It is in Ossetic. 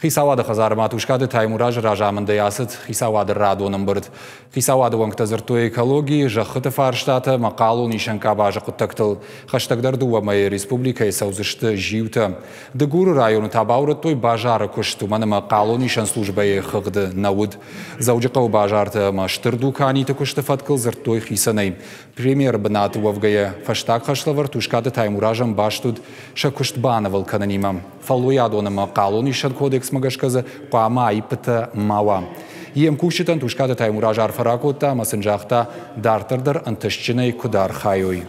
Хицауады хӕдзармӕ Тускъаты Таймуразы разамындӕй ацыд хицауады радон ӕмбырд. Хицауады уӕнгтӕ дзырдтой экологийы, зӕххыты фарстатӕ ӕмӕ хъалонисӕн къабазы хъуыддӕгтыл. Хӕстӕгдӕр дыууӕ мӕйы республикӕйы цӕудзысты зиутӕ. Дыгуры районы та баурӕдтой базары куыст, уымӕн ӕмӕ хъалонисӕн службӕйы хыгъды нӕ уыд. Дзӕуджыхъӕуы базарты ӕмӕ стыр дуканиты куысты фӕткыл дзырдтой хицӕнӕй. Премьеры бынаты уӕвгӕйӕ, фӕстаг хӕслӕвӕрд Тускъаты Таймуразӕн баст уыд сӕ куыст банывыл кӕнынимӕ. Фӕллойадон ӕмӕ хъалонисӕн кодексмӕ гӕсгӕ дзы хъуамӕ аиппытӕ ма уа. Йе мкусджытӕн Тускъаты Таймураз арфӕ ракодта ӕмӕ сын загъта, дарддӕр дӕр ӕнтыстджынӕй куыд архайой.